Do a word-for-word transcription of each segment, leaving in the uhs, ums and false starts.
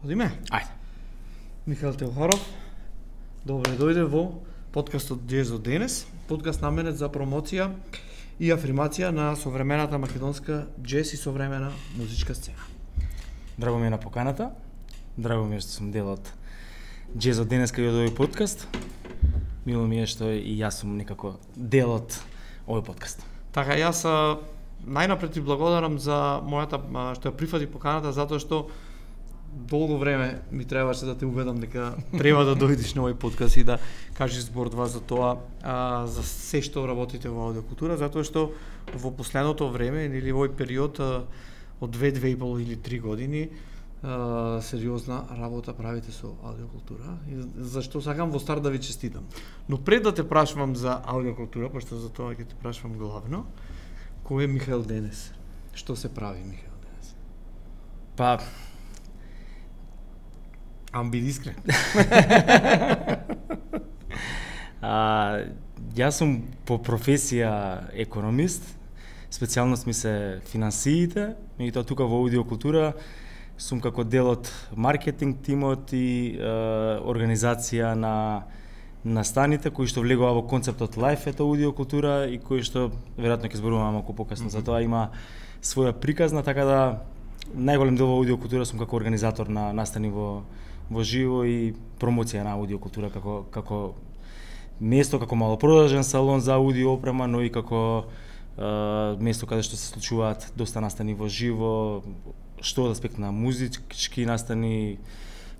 Одиме? Ајде. Михаил Теохаров, добре дојде во подкастот Джез од денес, подкаст наменет за промоција и афирмација на современата македонска джез и современа музичка сцена. Драго ми е на поканата. Драго ми е што сум дел од Джез од денеска и од овој подкаст. Мило ми е што и јас сум некако дел од овој подкаст. Така, јас а, најнапред ти благодарам за мојата а, што ја прифати поканата, затоа што долго време ми требаше да те уведам дека треба да дојдеш на овој подкаст и да кажеш збор два за тоа, а, за се што работите во аудиокултура, затоа што во последното време или во овој период а, од две, две и пол или три години а, сериозна работа правите со аудиокултура, и зашто сакам во старт да ви честитам. Но пред да те прашувам за аудиокултура, пошто за тоа ќе те прашувам главно, кој е Михаил денес? Што се прави Михаил денес? Па, Ам биди искрен. а, јас сум по професија економист, специјалност ми се финансиите, меѓутоа тука во аудиокултура сум како дел од маркетинг тимот и е, организација на настаните кои што влегува во концептот Life ето аудиокултура и кои што веројатно ќе зборуваме малку покасно, mm -hmm. за тоа има своја приказна, така да најголем дел во аудиокултура сум како организатор на настани во во живо и промоција на аудиокултура како како место, како малопродажен салон за аудио опрема, но и како е, место каде што се случуваат доста настани во живо, што од аспект на музички настани,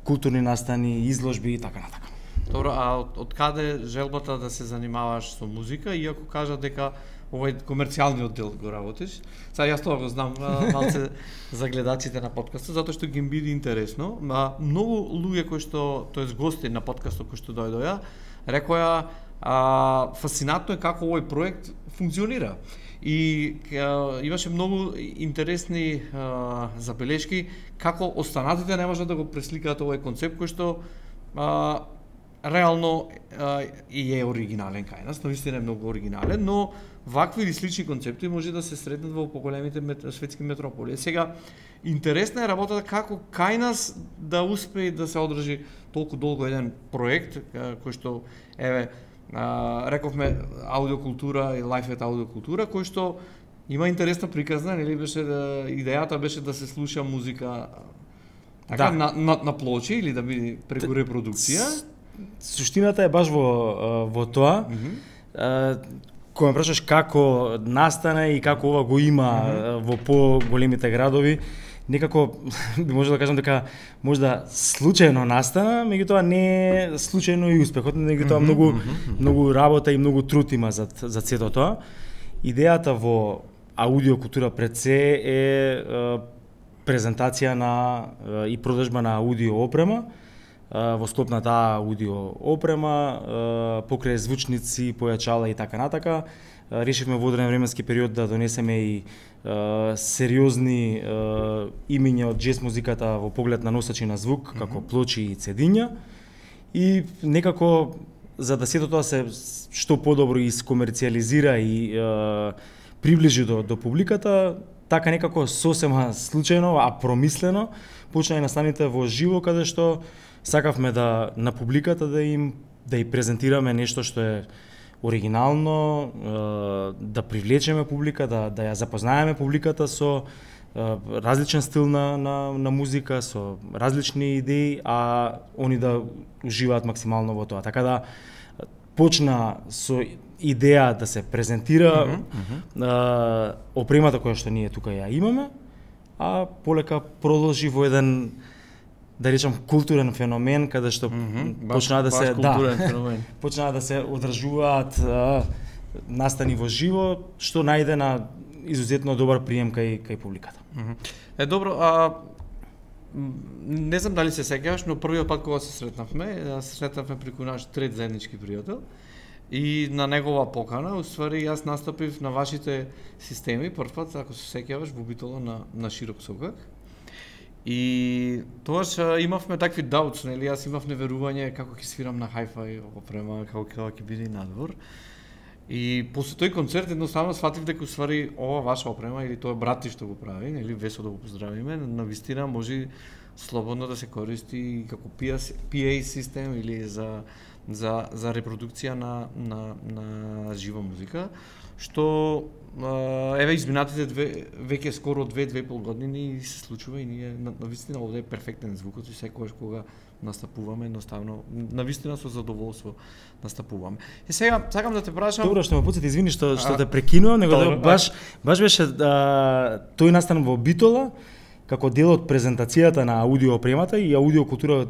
културни настани, изложби и така натака. Добро, а од, од каде желбата да се занимаваш со музика, иако кажа дека овој комерцијалниот дел го работиш? Сега јас тоа го знам малце за гледачите на подкастот, затоа што ги биде интересно. А, многу луѓе кои што, тоест гости на подкастот кои што дојдоа, рекоа а, фасцинатно е како овој проект функционира. И а, имаше многу интересни а, забелешки како останатите не можат да го пресликаат овој концепт кој што а, реално а, и е оригинален кај нас, навистина е многу оригинален, но вакви или слични концепти може да се сретнат во поголемите мет, светски метрополи. Сега, интересна е работата како кај нас да успее да се одржи толку долго еден проект, кој што, еве, а, рековме аудиокултура и лајф аудиокултура, кој што има интересна приказна, нели беше да, идејата беше да се слуша музика така, да. на, на, на плочи или да биде преку репродукција. Суштината е баш во во тоа. Mm -hmm. Кога ме прашаш како настане и како ова го има mm -hmm. во поголемите градови, некако може да кажам дека можда случајно настана, меѓутоа не е случајно и успехот, меѓутоа mm -hmm. многу mm -hmm. многу работа и многу труд има за за сето тоа. Идејата во аудиокултура пред се е, е презентација на е, и продажба на аудио опрема, во склоп на таа аудио опрема, покрај звучници, појачала и така натака. Решивме во одреден временски период да донесеме и сериозни имиња од джез музиката во поглед на носачи на звук, како плочи и цедиња. И некако, за да сето тоа се што подобро искомерцијализира и приближи до, до публиката, така некако сосема случајно, а промислено, почна и настаните во живо, каде што сакавме да на публиката да им да и презентираме нешто што е оригинално, да привлечеме публика, да да ја запознаеме публиката со различен стил на на на музика, со различни идеи, а они да уживаат максимално во тоа. Така да почна со идеја да се презентира mm -hmm. опремата која што ние тука ја имаме, а полека продолжи во еден, да речам, културен феномен каде што mm -hmm. почнаа да се да почнаа да се одржуваат а, настани во живо, што најде на изузетно добар прием кај кај публиката. Mm -hmm. Е добро, а не знам дали се сеќаваш, но првиот пат кога се сретнавме, се сретнавме преку наш трет заеднички пријател. И на негова покана, уствари, јас настапив на вашите системи прв пат, ако се сеќаваш, во Битола на на Широк сокак. И тогаш имавме такви даутс, нели, јас имав неверување како ќе свирам на hi-fi опрема, како ќе ќе биде надвор. И после тој концерт едноставно сфатив дека уствари ова ваша опрема или тоа брати што го прави, нели, Весо да го поздравиме, навистина може слободно да се користи како пи ей систем или за за за репродукција на на на жива музика, што еве изминатите две веќе скоро две две и пол години се случува и ние навистина овде е перфектен звукот и секогаш кога настапуваме едноставно навистина со задоволство настапуваме. И сега сакам да те прашам. Добро, што ме потсети, извини што што те прекинувам, него да, баш баш беше а, тој настан во Битола како дел од презентацијата на аудио опремата и аудио култура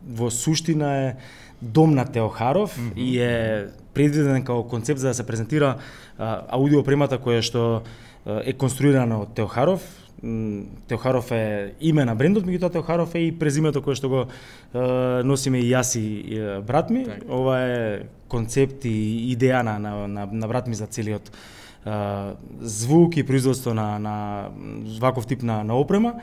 во суштина е дом на Теохаров mm -hmm. и е предвиден како концепт за да се презентира а, аудио опремата која што а, е конструирана од Теохаров. Теохаров е име на брендот, меѓутоа Теохаров е и презимето кое што го е, носиме и јас и е, брат ми. Так. Ова е концепт и идеја на, на, на, на брат ми за целиот е, звук и производство на, на ваков тип на, на опрема.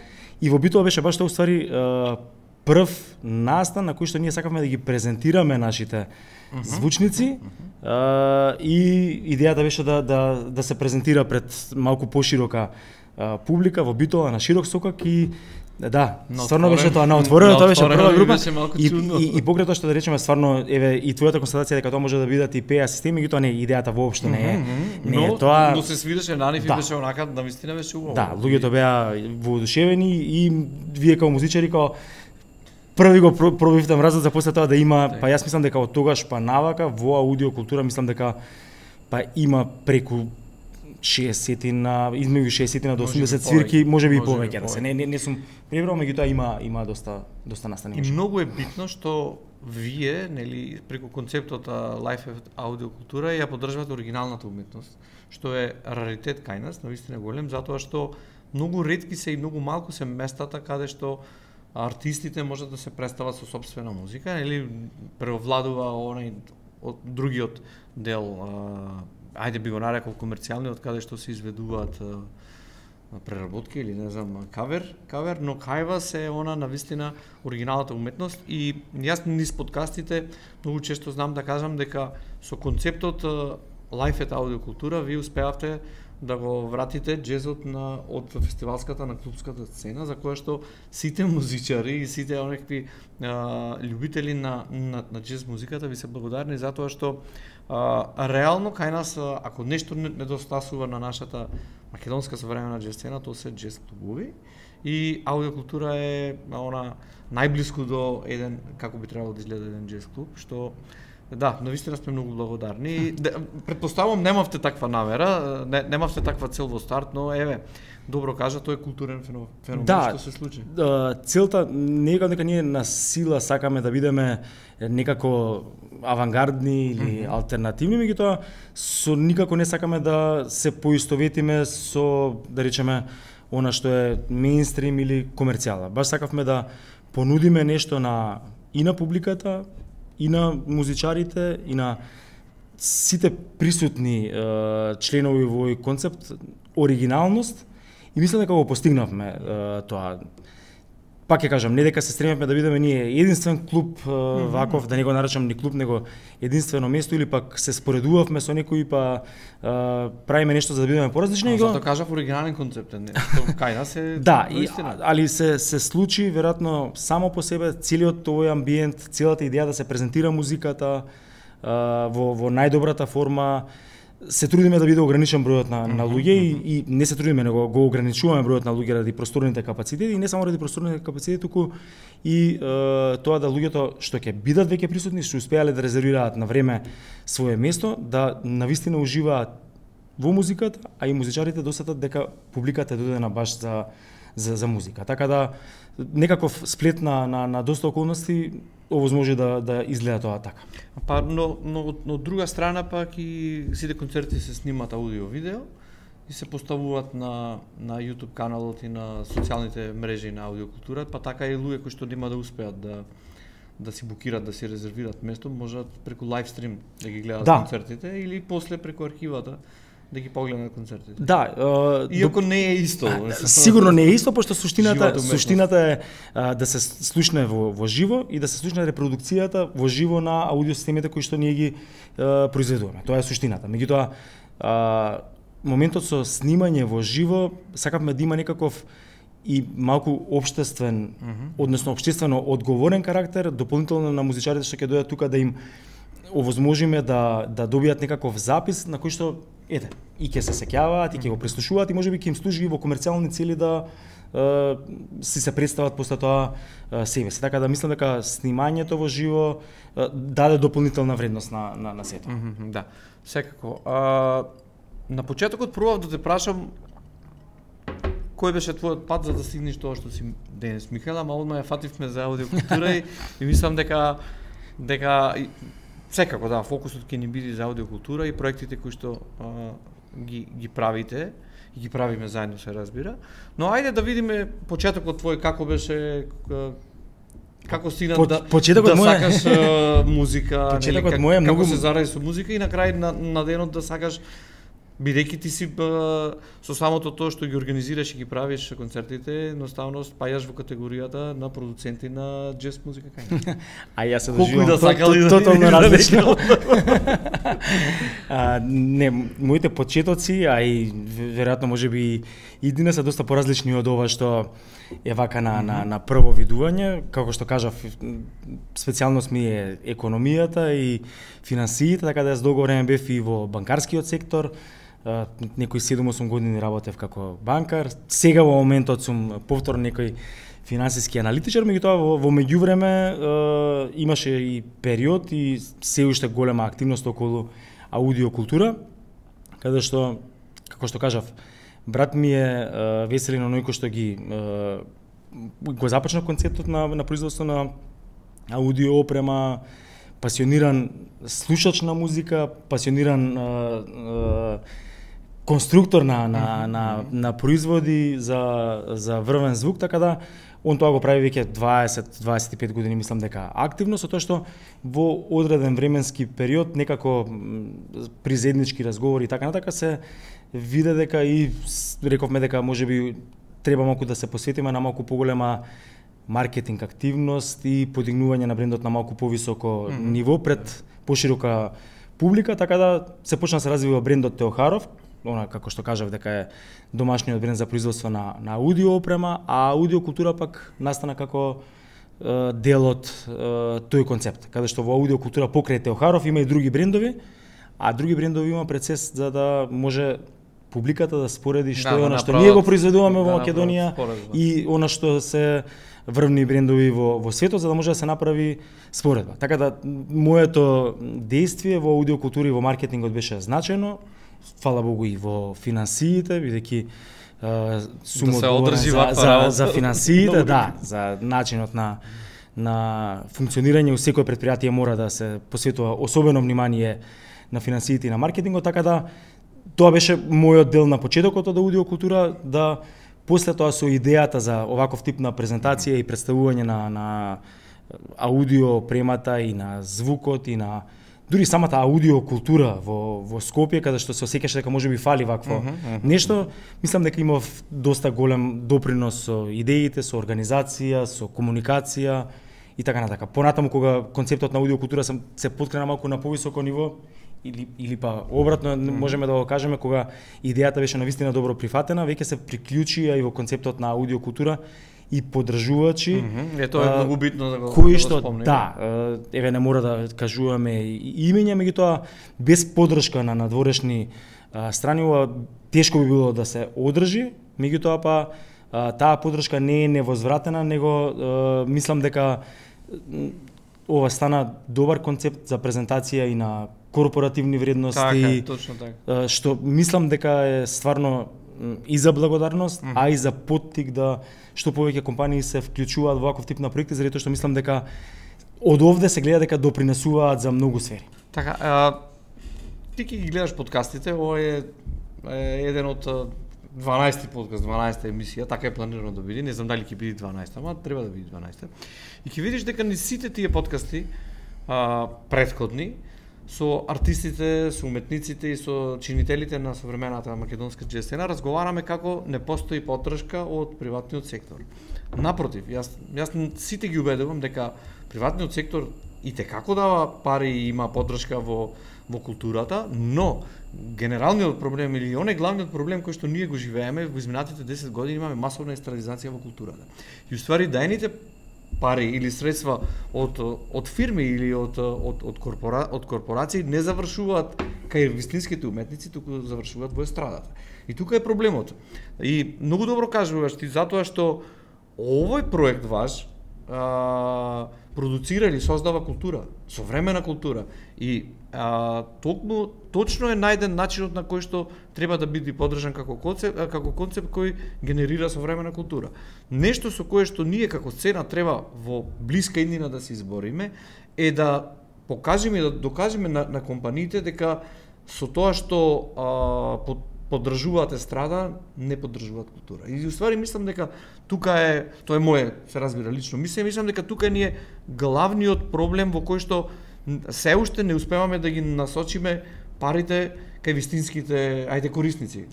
И во Битола беше баш тоа уствари е, прв настан на кој што ние сакавме да ги презентираме нашите uh -huh. звучници uh -huh. е, и идејата беше да, да, да се презентира пред малку поширока публика во Битола на широк сокак и да, на стварно беше тоа на отворено, тоа беше прва група и, и, и покрај тоа што да речеме стварно еве и твојата констатација дека тоа може да бидат и пи ей системи, меѓутоа не, идејата воопшто не е. Не но, е тоа. Но се свиреше на нив и беше онака навистина беше убаво. Да, луѓето беа воодушевени и вие како музичари како први го пробивте мразот за после тоа да има, па јас мислам дека од тогаш па навака во аудио култура мислам дека па има преку шеесет на измеѓу шеесет до осумдесет свирки, можеби и повеќе да се. Не не, не сум пребрал, меѓутоа има има доста доста настани. И многу е битно што вие, нели, преку концептот Life аудио култура ја поддржувате оригиналната уметност, што е раритет кај нас, навистина голем, затоа што многу ретки се и многу малку се местата каде што артистите можат да се представат со сопствена музика, нели, превладува онај од другиот дел, а, ајде би го нарекол комерцијалниот, каде што се изведуваат а, преработки или не знам кавер, кавер, но кај вас е она навистина оригиналната уметност и јас низ подкастите многу често знам да кажам дека со концептот Life аудио култура вие успеавте да го вратите джезот на од фестивалската на клубската сцена, за која што сите музичари и сите онекви а, љубители на, на на джез музиката ви се благодарни затоа што а, реално кај нас ако нешто недостасува на нашата македонска современа джез сцена, тоа се джез клубови и аудиокултура е она најблиску до еден како би требало да изгледа еден джез клуб, што да, навистина сме многу благодарни. Претпоставувам немавте таква намера, не, немавте таква цел во старт, но еве, добро кажа, тоа е културен феномен да, што се случи. Да, целта не е дека ние на сила сакаме да бидеме некако авангардни или mm -hmm. алтернативни, меѓутоа со никако не сакаме да се поистоветиме со, да речеме, она што е меинстрим или комерцијала. Баш сакавме да понудиме нешто на и на публиката, и на музичарите, и на сите присутни е, членови во овој концепт, оригиналност, и мислам дека го постигнавме е, тоа. Пак ќе кажам, не дека се стремевме да бидеме ние единствен клуб е, ваков, да не го наречам ни клуб, него единствено место, или пак се споредувавме со некои, па е, правиме нешто за да бидеме поразлични. Зато кажав оригинален концепт, не, кај нас е да, и, али се се случи веројатно само по себе целиот овој амбиент, целата идеја да се презентира музиката е, во во најдобрата форма. Се трудиме да биде ограничен бројот на, на луѓе и, и не се трудиме, него го ограничуваме бројот на луѓе ради просторните капацитети и не само ради просторните капацитети, туку и е, тоа да луѓето што ќе бидат веќе присутни, што успеале да резервираат на време свое место, да навистина уживаат во музиката, а и музичарите досетат дека публиката е додена баш за за за музика. Така да некаков сплет на на, на доста околности овозможи да да изгледа тоа така. Па но но од друга страна пак и сите концерти се снимаат аудио видео и се поставуваат на на YouTube каналот и на социјалните мрежи на аудиокултура, па така и луѓе кои што нема да успеат да да си букираат, да си резервираат место, можат преку лайвстрим да ги гледаат да. концертите или после преку архивата да ги погледнат концертите. Да, е, иако не е исто. Сигурно не е исто, пошто суштината суштината е а, да се слушне во во живо и да се слушне репродукцијата во живо на аудиосистемите кои што ние ги а, произведуваме. Тоа е суштината. Меѓутоа, а, моментот со снимање во живо сакавме да има некаков и малку општествен, mm -hmm. односно општествено одговорен карактер, дополнително на музичарите што ќе дојдат тука да им овозможиме да да добијат некаков запис на кој што ете и ќе се сеќаваат и ќе го преслушуваат и можеби ќе им служи и во комерцијални цели да е, си се представат после тоа е, себе си. Така да мислам дека снимањето во живо е, даде дополнителна вредност на на, на сето. Mm -hmm, да. Секако. А, на почетокот пробав да те прашам кој беше твојот пат за да стигнеш тоа што си денес, Михаел, ама одма ја фативме за аудиокултура и, и мислам дека дека секако да, фокусот ќе ни биде за аудиокултура и проектите кои што а, ги ги правите и ги правиме заедно, се разбира. Но ајде да видиме почетокот твој како беше, како стигна По, да почетокот да мој... сакаш а, музика, почетокот нели, мој е како многу се заради со музика и на крај на, на денот да сакаш, бидејќи ти си ба, со самото тоа што ги организираш и ги правиш концертите, едноставно спајаш во категоријата на продуценти на джез музика кај. А јас се Колку доживам да сакали да тотално да различно. а, не, моите почетоци, а и веројатно можеби и денес се доста поразлични од ова што е вака на, на, на прво видување. Како што кажав, специјалност ми е економијата и финансиите, така да јас долго време бев и во банкарскиот сектор. Uh, некои седум-осум години работев како банкар. Сега во моментот сум повторно некој финансиски аналитичар, меѓутоа во, во меѓувреме uh, имаше и период и се уште голема активност околу аудиокултура, каде што, како што кажав, брат ми е uh, Веселин оној кој што ги uh, го започна концептот на, на производство на аудио опрема, пасиониран слушач на музика, пасиониран uh, uh, конструктор на на на на производи за за врвен звук, така да он тоа го прави веќе дваесет до дваесет и пет години, мислам дека активно, со тоа што во одреден временски период некако при заеднички разговори и така натака се виде дека и рековме дека можеби треба малку да се посветиме на малку поголема маркетинг активност и подигнување на брендот на малку повисоко mm -hmm. ниво пред поширока публика, така да се почна да се развива брендот Теохаров, она како што кажав дека е домашниот бренд за производство на на аудио опрема, а аудиокултура пак настана како е, дел од е, тој концепт, каде што во аудиокултура покрај Теохаров има и други брендови, а други брендови има процес за да може публиката да спореди што да, е она што ние го произведуваме да, во Македонија и она што се врвни брендови во во светот, за да може да се направи споредба. Така да моето действие во аудиокултура и во маркетингот беше значајно. Фала Богу и во финансиите, бидејќи сум да одговорен за, за, за финансиите, да, за начинот на на функционирање у секој предпријатие мора да се посветува особено внимание на финансиите и на маркетингот, така да тоа беше мојот дел на почетокот од аудиокултура, да после тоа со идејата за оваков тип на презентација и представување на на аудио премата и на звукот и на дури самата аудиокултура во во Скопје, каде што се осеќаше дека можеби фали вакво uh -huh, uh -huh. нешто, мислам дека имав доста голем допринос со идеите, со организација, со комуникација и така натака. Понатаму кога концептот на аудиокултура се, се поткрена малку на повисоко ниво, или или па обратно mm -hmm. можеме да го кажеме, кога идејата беше навистина добро прифатена, веќе се приклучија и во концептот на аудиокултура и поддржувачи. Mm -hmm. Е, тоа е многу битно да го, кои да што, го спомнем. Да, еве не мора да кажуваме имења, меѓутоа без поддршка на надворешни страни ова тешко би било да се одржи, меѓутоа па таа поддршка не е невозвратена, него мислам дека ова стана добар концепт за презентација и на корпоративни вредности, така, точно така. Што мислам дека е стварно и за благодарност, mm -hmm. а и за поттик да што повеќе компании се вклучуваат во ваков тип на проекти, заради тоа што мислам дека од овде се гледа дека допринесуваат за многу сфери. Така, а, ти ќе ги гледаш подкастите, ова е, е еден од дванаести подкаст, дванаесета емисија, така е планирано да биде, не знам дали ќе биде дванаесета, ама треба да биде дванаесета. И ќе видиш дека не сите тие подкасти а, претходни со артистите, со уметниците и со чинителите на современата македонска џез сцена разговараме како не постои поддршка од приватниот сектор. Напротив, јас јас сите ги убедувам дека приватниот сектор и те како дава пари и има поддршка во во културата, но генералниот проблем или оној главниот проблем кој што ние го живееме во изминатите десет години, имаме масовна естрадизација во културата. И уствари даените пари или средства од од фирми или од од од корпора од корпорации не завршуваат кај вистинските уметници, туку завршуваат во естрадата. И тука е проблемот. И многу добро кажуваш ти затоа што овој проект ваш а, продуцира или создава култура, современа култура. И а, токму точно е најден начинот на кој што треба да биде поддржан како концепт, како концепт кој генерира современа култура. Нешто со кое што ние како сцена треба во блиска иднина да се избориме е да покажеме и да докажеме на, на компаниите дека со тоа што а, под поддржуваат естрада, не поддржуваат култура. И уствари мислам дека тука е, тоа е мое, се разбира лично мислење, мислам дека тука ни е главниот проблем во кој што се уште не успеваме да ги насочиме парите кај вистинските, ајде, корисници,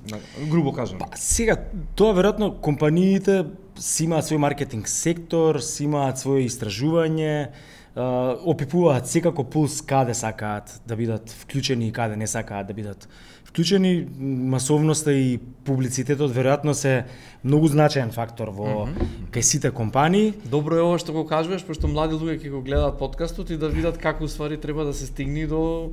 грубо кажам. Па сега тоа веројатно компаниите си имаат свој маркетинг сектор, си имаат своје истражување, опипуваат секако пулс каде сакаат да бидат вклучени и каде не сакаат да бидат вклучени. Масовноста и публицитетот веројатно се многу значаен фактор во mm -hmm. кај сите компании. Добро е ова што го кажуваш, пошто млади луѓе ќе го гледаат подкастот и да видат како уствари треба да се стигне до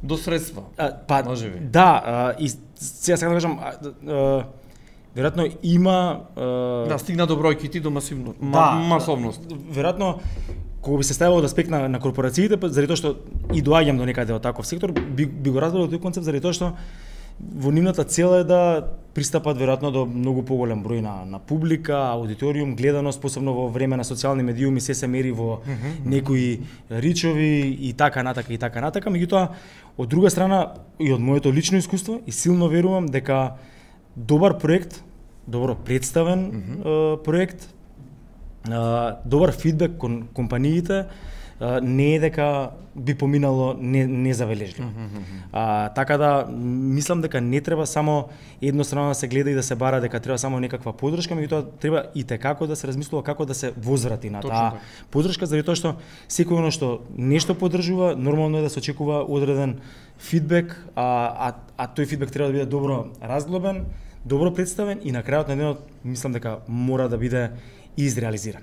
до средства. А, па можеби. Да, а, и сега сакам да кажам, а, а, веројатно има а... да стигна до бројките до масивно, да, масовност. Веројатно кога би се ставило од аспект на, на корпорациите, заради тоа што и доаѓам до некаде од таков сектор, би, би го разбрал тој концепт заради тоа што во нивната цел е да пристапат веројатно до многу поголем број на, на публика, аудиториум, гледаност, посебно во време на социјални медиуми се се мери во mm -hmm. некои ричови и така натака и така натака. Меѓутоа, од друга страна и од моето лично искуство и силно верувам дека добар проект, добро представен mm -hmm. проект, добар фидбек кон компаниите не е дека би поминало незабележливо. Не mm -hmm. а, така да мислам дека не треба само еднострано да се гледа и да се бара дека треба само некаква поддршка, меѓутоа треба и текако да се размислува како да се возврати на таа поддршка, заради тоа што секој оно што нешто поддржува, нормално е да се очекува одреден фидбек, а, а, а тој фидбек треба да биде добро разглобен, добро представен и на крајот на денот мислам дека мора да биде изреализиран.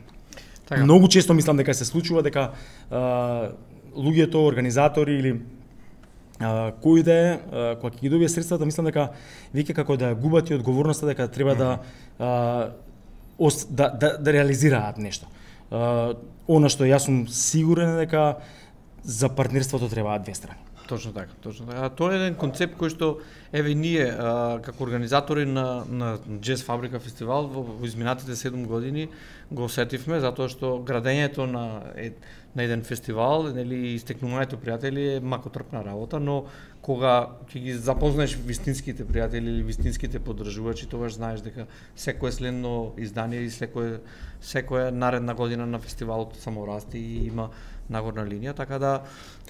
Така. Многу често мислам дека се случува дека а, луѓето, организатори или а, кој да е, кога ќе ги добие средствата, мислам дека веќе како да губат и одговорноста дека треба mm -hmm. да, а, ос, да да да реализираат нешто. А, она што јас сум сигурен дека за партнерството требаат две страни. Точно така, точно така. А тоа е еден концепт кој што еве ние а, како организатори на на Джез Фабрика фестивал во, во изминатите седум години го осетивме, затоа што градењето на е, на еден фестивал, нели, истекнувањето пријатели е макотрпна работа, но кога ќе ги запознаеш вистинските пријатели или вистинските поддржувачи, тогаш знаеш дека секое следно издание и секое секоја наредна година на фестивалот само расте и има нагорна линија, така да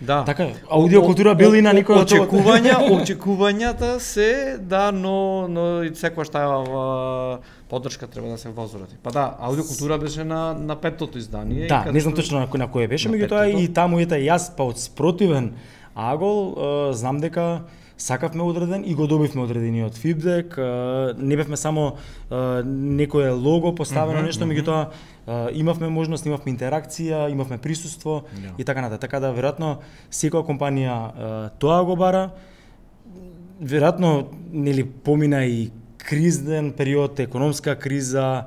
да. Така, аудиокултура бил и на никој очекувања, очекувањата се да, но но и секогаш таа поддршка треба да се возврати. Па да, аудиокултура беше на на петтото издание. Да, не знам точно на кој на кое беше, меѓутоа и таму ете јас па од спротивен агол знам дека сакавме одреден и го добивме одредениот фидбек, не бевме само некое лого поставено, mm -hmm, нешто, меѓутоа имавме можност, имавме интеракција, имавме присуство yeah. и така натаму. Така да веројатно секоја компанија тоа го бара. Веројатно нели помина и кризен период, економска криза,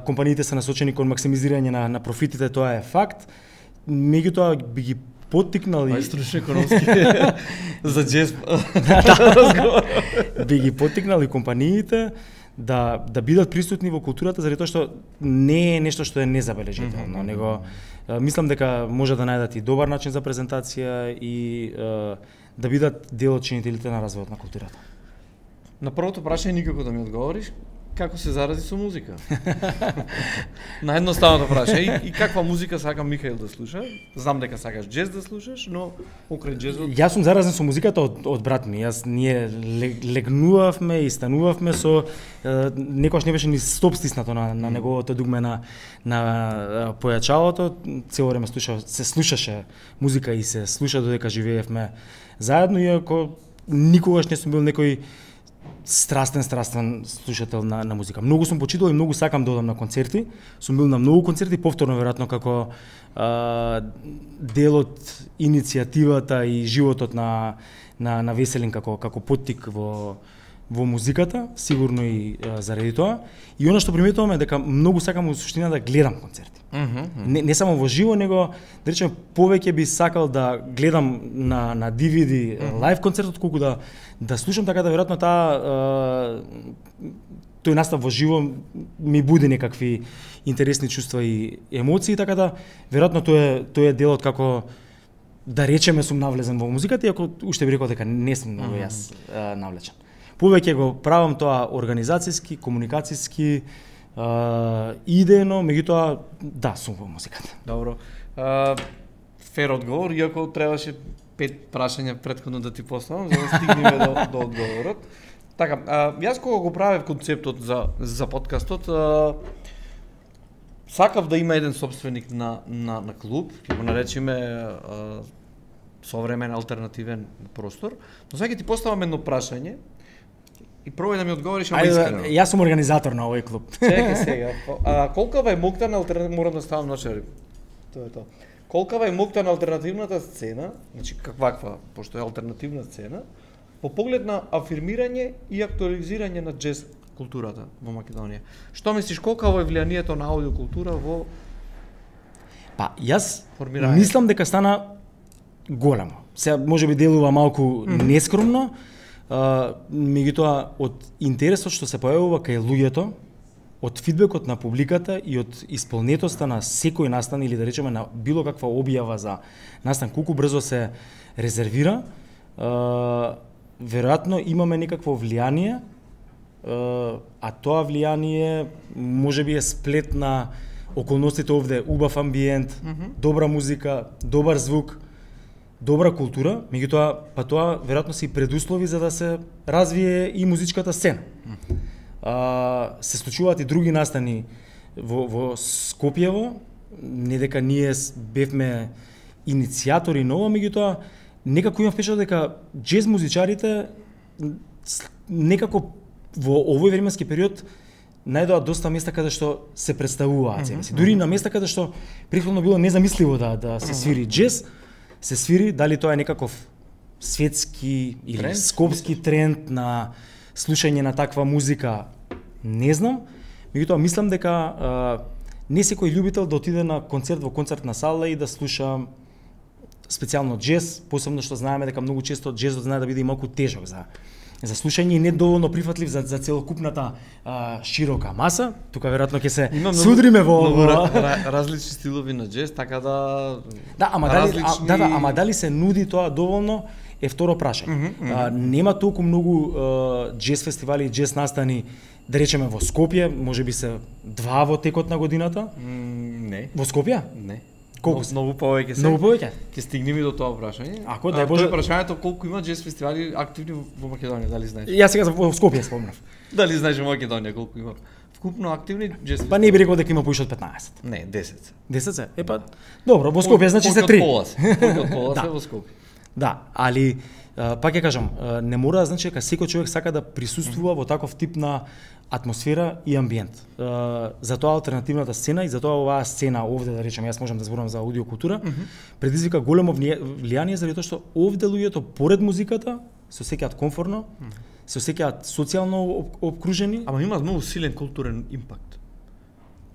компаниите се насочени кон максимизирање на на профитите, тоа е факт. Меѓутоа би ги поттикнали мајструшни економски за джез би ги поттикнали компаниите да да бидат присутни во културата, заради тоа што не е нешто што е незабележително, mm -hmm. него мислам дека може да најдат и добар начин за презентација и е, да бидат дел од чинителите на развојот на културата. На првото прашање никако да ми одговориш. како се зарази со музика? Наедноставното прашање. И, и каква музика сака Михаил да слуша? Знам дека сакаш джез да слушаш, но покрај джезот... Јас сум заразен со музиката од, од брат ми. Јас ние легнувавме и станувавме со е, некојаш не беше ни стоп стиснато на, на неговото дугме на на појачалото. Цело време слуша, се слушаше музика и се слуша додека живеевме заедно, иако никогаш не сум бил некој страстен, страстен слушател на, на музика. Многу сум почитал и многу сакам да одам на концерти. Сум бил на многу концерти, повторно веројатно како а, дел од иницијативата и животот на на на Веселин како како поттик во во музиката, сигурно и а, заради тоа. И она што приметувам е дека многу сакам во суштина да гледам концерти. Mm -hmm. Не, не само во живо, него да речеме повеќе би сакал да гледам на на ди ви ди mm -hmm. лайв концерт отколку да да слушам, така да веројатно таа тој настав во живо ми буди некакви интересни чувства и емоции, така да веројатно тој е тој е делот како да речеме сум навлезен во музиката, иако уште би рекол дека не сум многу јас а, навлечен. Повеќе го правам тоа организацијски, комуникацијски, а, идејно, меѓутоа да, сум во музиката. Добро. А, фер одговор, иако требаше пет прашања претходно да ти поставам, за да стигнеме до, до одговорот. Така, а, јас кога го правев концептот за за подкастот, а, сакав да има еден собственик на на на клуб, ќе го наречеме а, современ алтернативен простор. Но сега ќе ти поставам едно прашање и пробај да ми одговориш, ама искрено. Јас сум организатор на овој клуб. Чекај сега. А колкава е моќта на алтернативната, морам да ставам ночари. Тоа е тоа. Колкава е моќта на алтернативната сцена, значи каква, пошто е алтернативна сцена, по поглед на афирмирање и актуализирање на джез културата во Македонија. Што мислиш, колкаво е влијанието на аудиокултура во Па, јас формирање? Мислам дека стана големо. Сега можеби делува малку mm -hmm. нескромно, а, меѓутоа од интересот што се појавува кај луѓето, од фидбекот на публиката и од исполнетоста на секој настан или да речеме на било каква објава за настан, колку брзо се резервира, а, веројатно имаме некакво влијание, а, а тоа влијание можеби е сплет на околностите овде, убав амбиент, mm -hmm. добра музика, добар звук, добра култура, меѓутоа па тоа веројатно се и предуслови за да се развие и музичката сцена. Mm. А, се случуваат и други настани во, во Скопјево, не дека ние бевме иницијатори на ова, меѓутоа некако имам впечаток дека джез музичарите некако во овој временски период најдоа доста места каде што се представуваат себе си. Дури на места каде што претходно било незамисливо да да се свири джез, се свири, дали тоа е некаков светски или тренд? Скопски тренд на слушање на таква музика, не знам. Меѓутоа мислам дека а, не секој љубител да отиде на концерт во концертна сала и да слуша специјално джез, посебно што знаеме дека многу често джезот знае да биде и малку тежок за за слушање и не доволно прифатлив за за целокупната а, широка маса. Тука веројатно ќе се судриме во многу ra, различни стилови на джез, така да Да, ама дали различни... а, да, да, ама дали се нуди тоа доволно е второ прашање. Mm -hmm, mm -hmm. А, нема толку многу а, джез фестивали и джез настани, да речеме во Скопје, можеби се два во текот на годината? Mm, не. Во Скопје? Не. Колку многу повеќе се? Многу повеќе. Ќе стигнеме до тоа прашање. Ако дај Боже, тоа е прашањето колку има джез фестивали активни во Македонија, дали знаеш? Јас сега во Скопје спомнав. Дали знаеш во Македонија колку има? Вкупно активни джез фестивали? Па не би рекол дека има поише од петнаесет. Не, десет. десет се? Е па добро, во Скопје значи се три. Колку од пола се во Скопје. Да, али пак ќе кажам, не мора да значи дека секој човек сака да присуствува во таков тип на атмосфера и амбиент. Затоа алтернативната сцена и затоа оваа сцена овде, да речем, јас можам да зборам за аудиокултура, mm -hmm. предизвика големо влијание заради тоа што овде луѓето поред музиката се осеќаат комфортно, mm -hmm. се осеќаат социјално обкружени. Ама има многу силен културен импакт.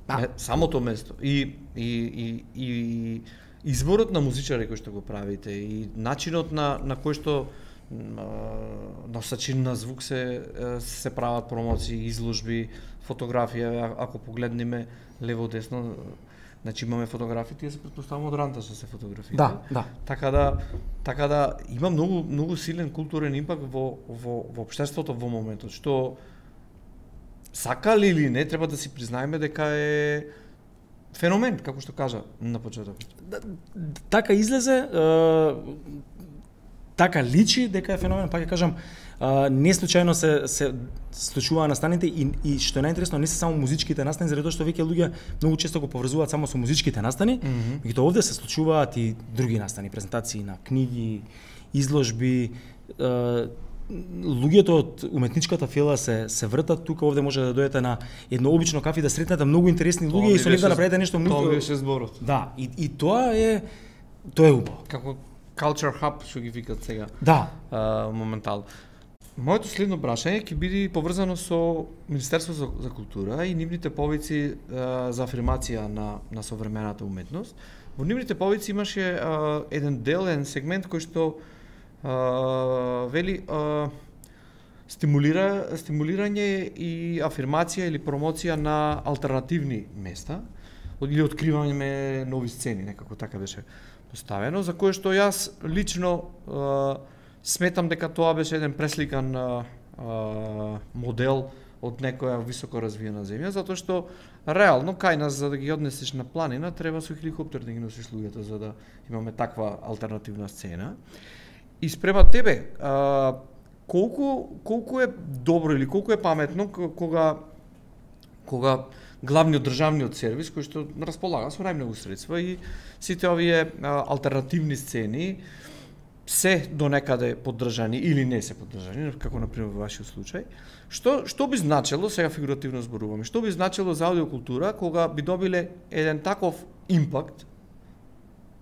А, самото место и и и и изборот на музичари кој што го правите и начинот на на кој што носачи на звук се се прават промоции, изложби, фотографија, ако погледнеме лево десно, значи имаме фотографии, тие се претпоставувам од ранта што се фотографии. Да, да. Така да така да има многу многу силен културен импакт во во во општеството во моментот, што сакали или не, треба да си признаеме дека е феномен, како што кажа на почеток. Така излезе, така личи дека е феномен, пак ќе кажам, не случајно се се случува настаните и, и што е најинтересно, не се само музичките настани, заради тоа што веќе луѓе многу често го поврзуваат само со музичките настани, меѓутоа mm -hmm. овде се случуваат и други настани, презентации на книги, изложби, луѓето од уметничката фила се се вртат тука, овде може да дојдете на едно обично кафе да сретнете многу интересни луѓе и со нив да направите нешто многу. Тоа беше зборот. Да, и и тоа е тоа е убаво. Како culture hub што ги викат сега. Да, а, моментално. Моето следно прашање ќе биде поврзано со Министерство за, за култура и нивните повици а, за афирмација на на современата уметност. Во нивните повици имаше а, еден дел, еден сегмент кој што Uh, вели uh, стимулира стимулирање и афирмација или промоција на алтернативни места или откривање нови сцени, некако така беше поставено, за кое што јас лично uh, сметам дека тоа беше еден пресликан uh, uh, модел од некоја високо развиена земја, затоа што реално кај нас за да ги однесеш на планина треба со хеликоптер да ги носиш луѓето за да имаме таква алтернативна сцена. И спрема тебе, а, колку колку е добро или колку е паметно кога кога главниот државниот сервис кој што располага со најмногу средства и сите овие а, алтернативни сцени се до некаде поддржани или не се поддржани, како на пример во вашиот случај, што што би значело, сега фигуративно зборуваме, што би значело за аудиокултура кога би добиле еден таков импакт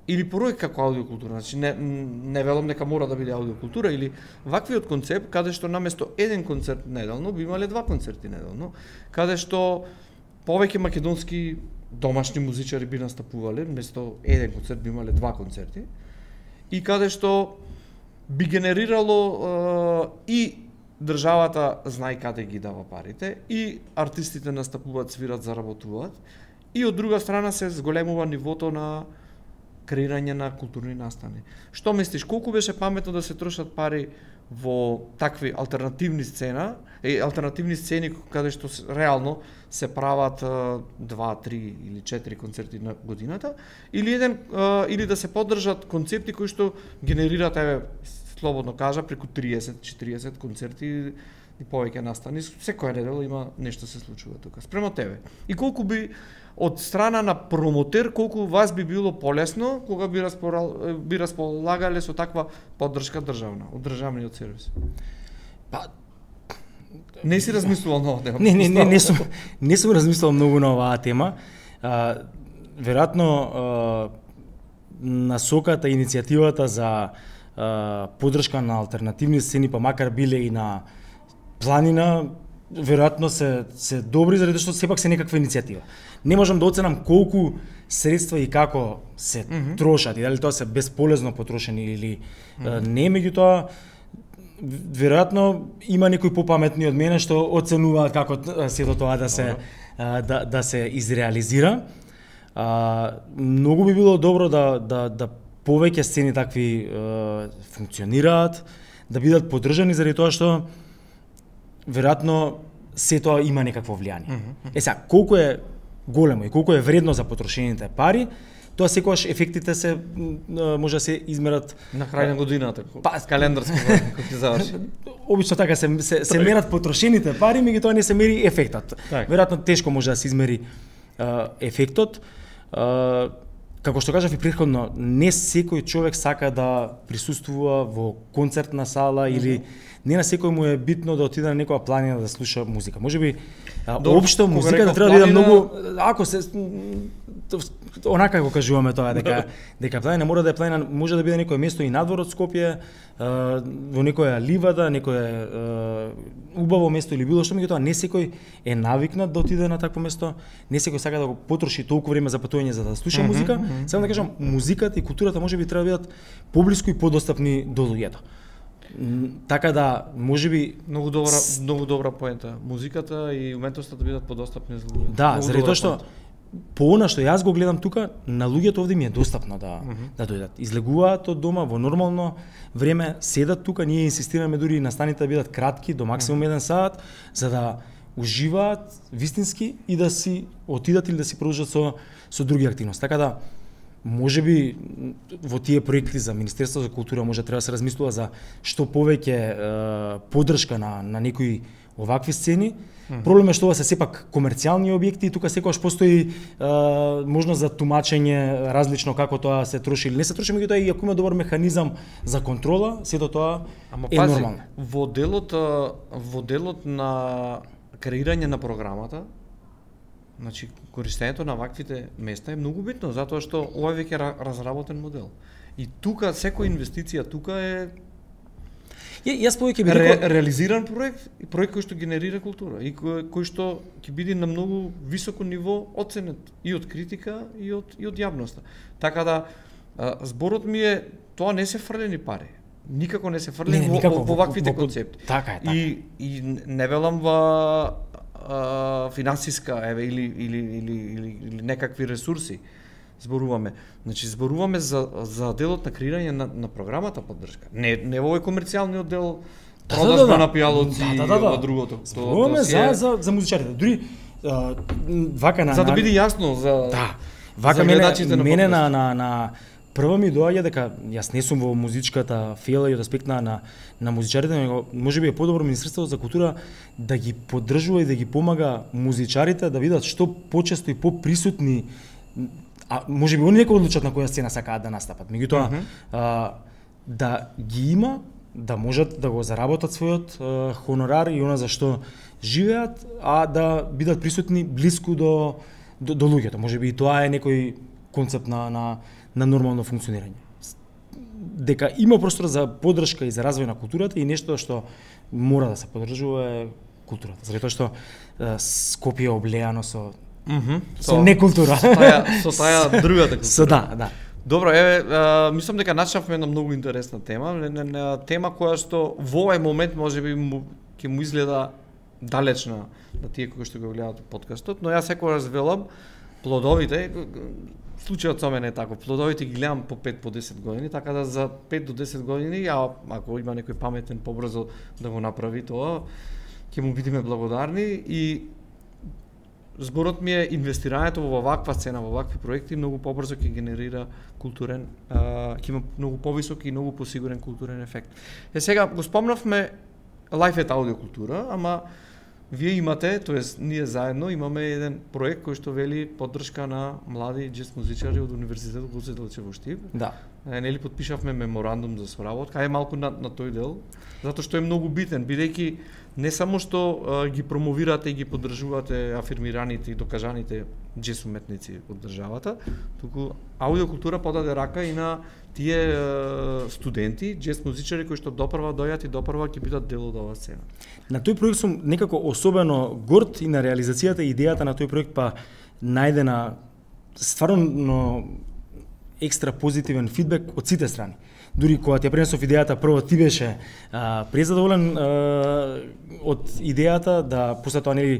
или проект како аудиокултура, значи не, не велам дека мора да биде аудиокултура, или ваквиот концепт, каде што наместо еден концерт неделно, би имале два концерти неделно, каде што повеќе македонски домашни музичари би настапувале, место еден концерт би имале два концерти, и каде што би генерирало е, и државата знае каде ги дава парите, и артистите настапуваат, свират, заработуваат, и од друга страна се зголемува нивото на креирање на културни настани. Што мислиш, колку беше паметно да се трошат пари во такви алтернативни сцена, е, алтернативни сцени каде што реално се прават два, три или четири концерти на годината, или еден или да се поддржат концепти кои што генерираат, еве, слободно кажа, преку триесет четириесет концерти и повеќе настани, секоја недела има нешто се случува тука. Спрема тебе. И колку би од страна на промотер, колку вас би било полесно кога би располагал, би располагале со таква поддршка државна, од државниот сервис? Па не си размислувал на оваа тема? Не, не, не, не сум не сум размислувал многу на оваа тема. А, веројатно а, насоката, иницијативата за а, поддршка на алтернативни сцени, па макар биле и на планина, веројатно се се добри заради што сепак се некаква иницијатива. Не можам да оценам колку средства и како се mm -hmm. трошат и дали тоа се безполезно потрошени или mm -hmm. не, меѓутоа веројатно има некои попаметни од мене што оценуваат како сето тоа да се да да се изреализира. А, многу би било добро да да да повеќе сцени такви е, функционираат, да бидат поддржани заради тоа што веројатно се тоа има некакво влијание. Mm -hmm. Е сега, колку е големо и колку е вредно за потрошените пари, тоа секогаш ефектите се може да се измерат на крај на годината, па календарско кога ќе заврши. Обично така се се, се мерат потрошените пари, меѓутоа не се мери ефектот. Так. Веројатно тешко може да се измери uh, ефектот. Uh, како што кажав и претходно, не секој човек сака да присуствува во концертна сала mm -hmm. или не на секој му е битно да отиде на некоја планина да слуша музика. Можеби општо музиката треба да биде многу, ако се онака го кажуваме тоа дека дека планина мора да е планина, може да биде некое место и надвор од Скопје, во некоја ливада, некое убаво место или било што, меѓутоа не секој е навикнат да отиде на такво место, не секој сака да го потроши толку време за патување за да слуша mm -hmm, музика. Mm -hmm. Само да кажам, музиката и културата можеби треба да бидат поблиску и подостапни до луѓето. Така да, можеби многу добра, многу добра поента. Музиката и уметноста да бидат подостапни за луѓето. Да, заради тоа што по она што јас го гледам тука, на луѓето овде ми е достапно да mm -hmm. да дојдат. Излегуваат од дома во нормално време, седат тука, ние инсистираме дури настаните да бидат кратки, до максимум еден сат, за да уживаат вистински и да си отидат или да си продолжат со со други активности. Така да можеби во тие проекти за Министерство за култура може треба да се размислува за што повеќе е, поддршка на на некои овакви сцени. Mm-hmm. Проблем е што ова се сепак комерцијални објекти и тука секогаш постои е, можност за тумачење различно како тоа се троши или не се троши, меѓутоа и ако има добар механизам за контрола, сето тоа Ама, е пази, нормално. Во делот во делот на креирање на програмата, значи користењето на ваквите места е многу битно, затоа што ова е веќе разработен модел. И тука секоја инвестиција тука е Ја, јас повеќе би ре, рекол реализиран проект и проект кој што генерира култура и кој, кој што ќе биде на многу високо ниво оценет и од критика и од и од јавноста. Така да а, зборот ми е тоа не се фрлени пари. Никако не се фрлени во, во, во ваквите во, концепти. Така е, така. И и не велам во а, финансиска еве или или или или, или некакви ресурси зборуваме. Значи зборуваме за за делот на креирање на на програмата поддршка. Не не во овој комерцијалниот дел Да, продажба да, да, на пијалоци да, да, да, да. во другото. Зборуваме за за за музичарите. Дури а, вака на за да на- биде јасно за Да. Вака за мене гледачите на мене подкаст. на на на прво ми доаѓа дека јас не сум во музичката фела и од аспект на на, на музичарите, него можеби е подобро Министерството за култура да ги поддржува и да ги помага музичарите да видат што почесто и поприсутни, а можеби они нека одлучат на која сцена сакаат да настапат. Меѓутоа, Мгм. а, да ги има, да можат да го заработат својот а, хонорар и она за што живеат, а да бидат присутни блиску до до, до луѓето. Можеби и тоа е некој концепт на на на нормално функционирање. С- Дека има простор за поддршка и за развој на културата и нешто што мора да се поддржува е културата. Затоа што е, Скопје е облеано со Мгм. со некултура. Со таа со таа другата култура. Со да, да. Добро, еве, а, мислам дека начнавме една многу интересна тема, не, не, не, тема која што во овој момент можеби му, ќе му изгледа далечна на тие кои што го гледаат подкастот, но јас секогаш велам плодовите, случајот со мене е тако, плодовите ги гледам по пет по десет години, така да за пет до десет години, а ако има некој паметен побрзо да го направи тоа, ќе му бидеме благодарни и зборот ми е инвестирањето во ваква сцена, во вакви проекти многу побрзо ќе генерира културен, а, ќе има многу повисок и многу посигурен културен ефект. Е сега го спомнавме Life at Audio култура, ама вие имате, тоест ние заедно имаме еден проект кој што вели поддршка на млади џез музичари од Универзитетот Гоце Делчев во Штип. Да. Е, нели потпишавме меморандум за соработка, ај малку на, на тој дел, затоа што е многу битен, бидејќи не само што а, ги промовирате и ги поддржувате афирмираните и докажаните џез уметници од државата, туку аудиокултура подаде рака и на тие а, студенти, џез музичари кои што допрва дојат и допрва ќе бидат дел од оваа сцена. На тој проект сум некако особено горд и на реализацијата и идејата на тој проект па најдена стварно екстра позитивен фидбек од сите страни. Дури кога ти ја пренесов идејата, прво ти беше а, презадоволен а, од идејата, да после тоа нели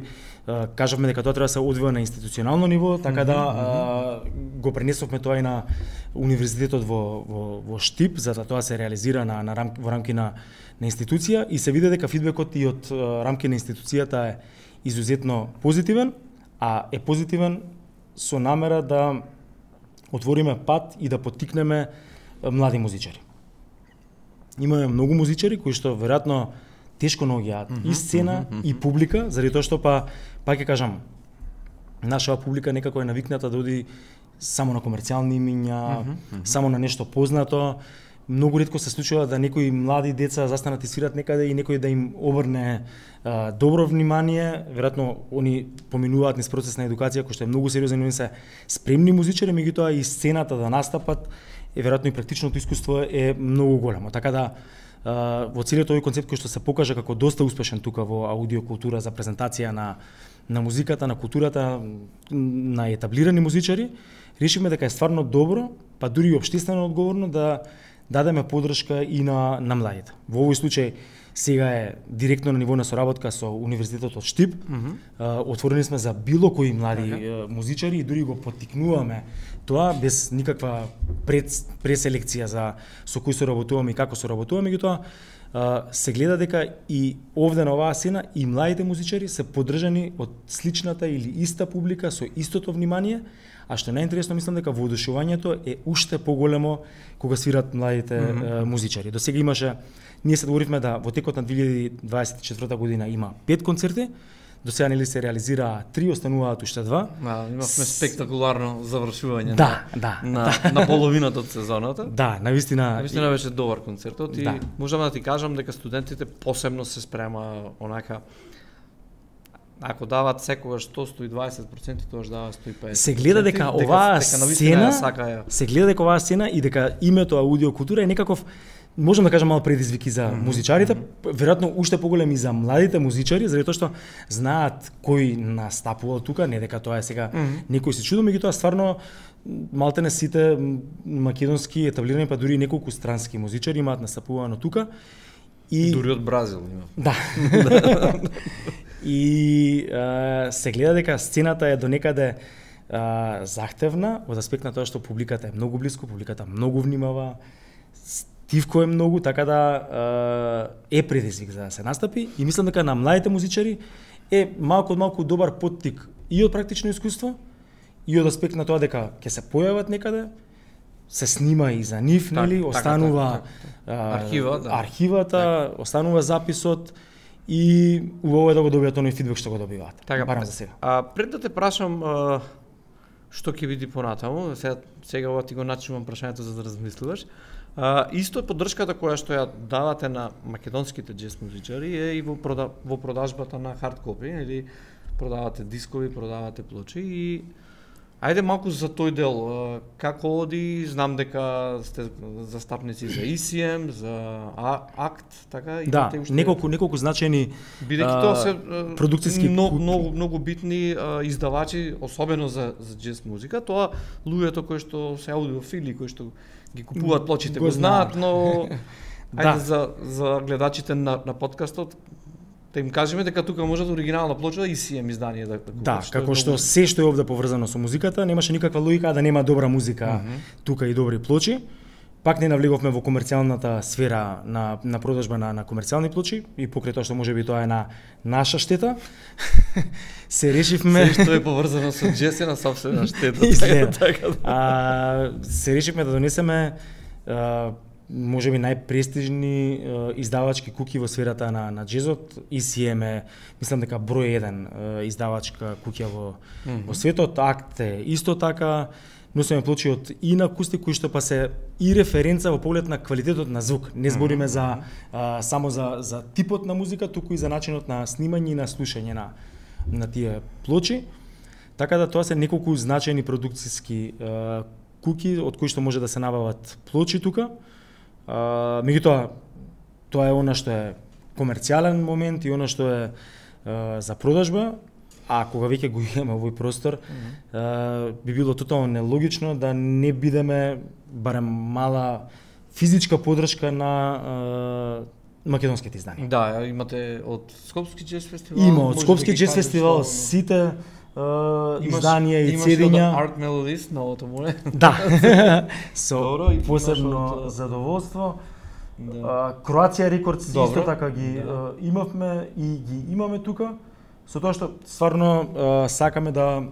а, кажавме дека тоа треба да се одвива на институционално ниво, така да а, го пренесовме тоа и на универзитетот во во во Штип, за да тоа се реализира на на рам, во рамки на на институција и се види дека фидбекот и од а, рамки на институцијата е изузетно позитивен, а е позитивен со намера да отвориме пат и да поттикнеме а, млади музичари. Имаме многу музичари кои што веројатно тешко наоѓаат mm -hmm, и сцена mm -hmm. и публика, заради тоа што па па ќе кажам, нашава публика некако е навикната да оди само на комерцијални имиња, mm -hmm, само на нешто познато. Многу ретко се случува да некои млади деца застанат и свират некаде и некој да им обрне а, добро внимание. Веројатно они поминуваат низ процес на едукација кој што е многу сериозен, они се спремни музичари, меѓутоа и сцената да настапат, е веројатно и практичното искуство е многу големо. Така да а, во целиот овој концепт кој што се покажа како доста успешен тука во аудиокултура за презентација на на музиката, на културата, на етаблирани музичари, решивме дека е стварно добро, па дури и општествено одговорно да дадеме поддршка и на на младите. Во овој случај сега е директно на ниво на соработка со Универзитетот од Штип. Mm -hmm. а, отворени сме за било кои млади okay. музичари и дури го поттикнуваме тоа без никаква пред, преселекција за со кои соработуваме и како соработуваме, меѓутоа се гледа дека и овде на оваа сцена и младите музичари се поддржани од сличната или иста публика со истото внимание, а што најинтересно мислам дека воодушевањето е уште поголемо кога свират младите mm -hmm. музичари. До сега имаше, ние се договоривме да во текот на две илјади дваесет и четврта година има пет концерти, до сега нели се реализираа три, остануваат уште два. Да, имавме спектакуларно завршување да, да, на, да. на половината од сезоната. Да, навистина. Навистина беше добар концертот и да. можам да ти кажам дека студентите посебно се спрема онака, ако дават секогаш сто до сто и дваесет проценти, тоа дава сто и песет. Се гледа дека оваа сцена, се гледа дека оваа сцена и дека името аудиокултура е некаков, можам да кажам, мал предизвик и за mm -hmm. музичарите, веројатно уште поголем и за младите музичари, заради тоа што знаат кој настапува тука, не дека тоа е сега mm -hmm. некој се чуди, меѓутоа стварно малтене сите македонски етаблирани, па дури неколку странски музичари имаат настапувано тука. И дури од Бразил има. Да. И а, се гледа дека сцената е донекаде а, захтевна од аспект на тоа што публиката е многу блиску, публиката многу внимава, стивко е многу, така да е предизвик за да се настапи и мислам дека на младите музичари е малку од малку добар поттик и од практично искуство и од аспект на тоа дека ќе се појават некаде, се снима и за нив, так, нели, останува так, так, так. архива, да. архивата, так. Останува записот и убаво е да го добијат оној фидбек што го добиваат. Така, барам за сега. А пред да те прашам а, што ќе биде понатаму, сега сега ова ти го начинувам прашањето за да размислуваш. А, исто поддршката која што ја давате на македонските джез музичари е и во, прода, во продажбата на хард копи, или продавате дискови, продавате плочи и ајде малку за тој дел, како оди, знам дека сте застапници за И Си Ем, за Акт, така? Да, уште... неколку, неколку значени бидејќи тоа се продукциски многу, многу, многу битни а, издавачи, особено за, за джез музика, тоа луѓето кои што се аудиофили, кои што ги купуваат плочите го, го знаат, но ајде да. за, за гледачите на, на подкастот, да им кажеме дека тука може да оригинална плоча И Си Ем издание да купат. Да, како што се што е овде поврзано со музиката, немаше никаква логика да нема добра музика mm -hmm. тука и добри плочи. Пак не навлеговме во комерцијалната сфера на на продажба на на комерцијални плочи и покрај тоа што можеби тоа е на наша штета. се решивме се што е поврзано со джез е на сопствена штета. така, а, се решивме да донесеме а, можеби најпрестижни uh, издавачки куќи во сферата на на джезот. И Си Ем е, мислам дека број еден uh, издавачка куќа во mm -hmm. во светот. Акт е исто така. Носиме плочи од и на акустик кои што па се и референца во поглед на квалитетот на звук. Не збориме mm -hmm. за uh, само за за типот на музика, туку и за начинот на снимање и на слушање на на тие плочи. Така да тоа се неколку значајни продукциски uh, куќи од кои што може да се набават плочи тука. Uh, меѓутоа, тоа е она што е комерцијален момент и она што е uh, за продажба, а кога веќе го имаме овој простор, mm -hmm. uh, би било тотално нелогично да не бидеме барем мала физичка поддршка на uh, македонските изданија. Да, имате од Скопски джез фестивал. Има од Скопски да джез фестивал сите Uh, изданија и цедиња. Имаш Art Melodies, новото му е. Да, со Добро, посебно от... задоволство. Да. Uh, Croatia Records Добро. Исто така ги да. uh, имавме и ги имаме тука. Со тоа што стварно uh, сакаме да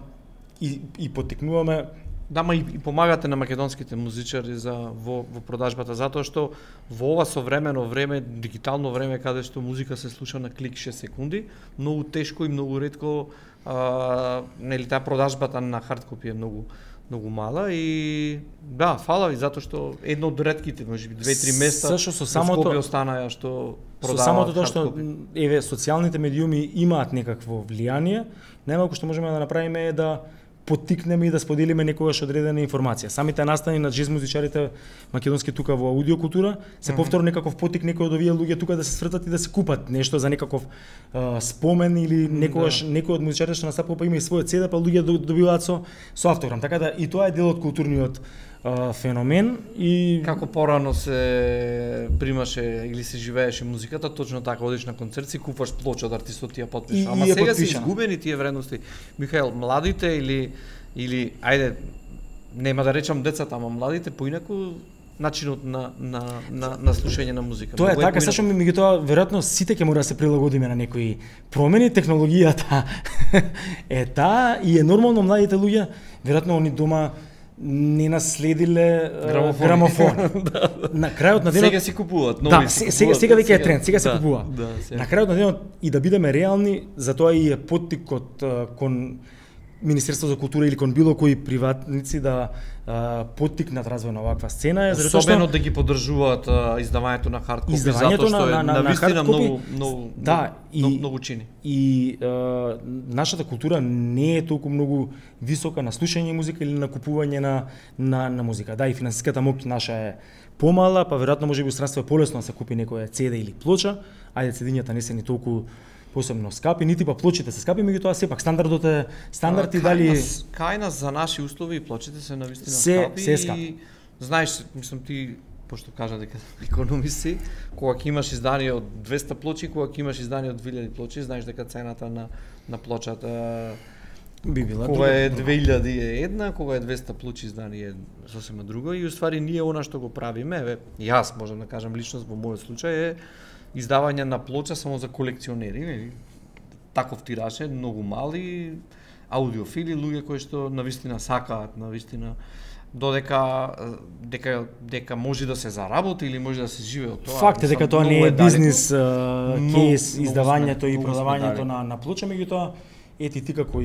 и, и поттикнуваме. Да, ма и, и помагате на македонските музичари за во, во продажбата, затоа што во ова современо време, дигитално време, каде што музика се слуша на клик шест секунди, многу тешко и многу ретко а, нели таа продажбата на хард копи е многу многу мала и да, фала ви затоа што едно од ретките, можеби две-три места Сашо, со самото Скопје останаа што продаваат. Со самото тоа што еве социјалните медиуми имаат некакво влијание, најмалку што можеме да направиме е да поттикнеме и да споделиме некогаш одредена информација. Самите настани на джез музичарите македонски тука во аудиокултура се mm -hmm. повторно некаков поттик некои од овие луѓе тука да се свртат и да се купат нешто за некаков uh, спомен или некогаш да. Некој од музичарите што настапува па има и својот седа, па луѓе добиваат со со автограм. Така да и тоа е дел од културниот uh, феномен и како порано се примаше или се живееше музиката, точно така одиш на концерт си купуваш плоча од артистот ти ја потпиша. Ама сега се изгубени тие вредности. Михаел, младите или или ајде нема да речам децата, ама младите поинаку начинот на на на на слушање на музика. Тоа е така, сашто меѓутоа веројатно сите ќе мора да се прилагодиме на некои промени, технологијата е таа и е нормално младите луѓе веројатно они дома не наследиле грамофони. грамофони. Да. На крајот на денот сега си купуваат, нови да, си сега сега веќе е тренд, сега се да, купува. Да, на крајот на денот и да бидеме реални, затоа и е поттикот кон Министерство за култура или кон било кои приватници да а, поттикнат развој на оваква сцена е особено да ги поддржуваат издавањето на хард копи, затоа што на, е на, навистина на многу многу да, и, многу, многу чини. И а, нашата култура не е толку многу висока на слушање музика или на купување на на, на музика. Да, и финансиската моќ наша е помала, па веројатно можеби во странство е полесно да се купи некоја цеде или плоча, ајде цедињата не се ни толку посебно скапи, нити па плочите се скапи, меѓутоа сепак стандардот е стандард и дали кај нас за наши услови плочите се навистина се, скапи. Се скапи. И знаеш, мислам ти пошто кажа дека економиси, кога ќе имаш издание од двесте плочи, кога ќе имаш издание од две илјади плочи, знаеш дека цената на на плочата би била кога е две илјади е една, кога е двесте плочи издание е сосема друго и уствари ние она што го правиме, еве, јас можам да кажам лично во мојот случај е издавање на плоча само за колекционери, нели? Таков тираж е многу мали, аудиофили, луѓе кои што навистина сакаат, навистина додека дека дека може да се заработи или може да се живее од тоа. Факт е дека тоа не е бизнис кейс, издавањето и продавањето на на плоча, меѓутоа ети ти како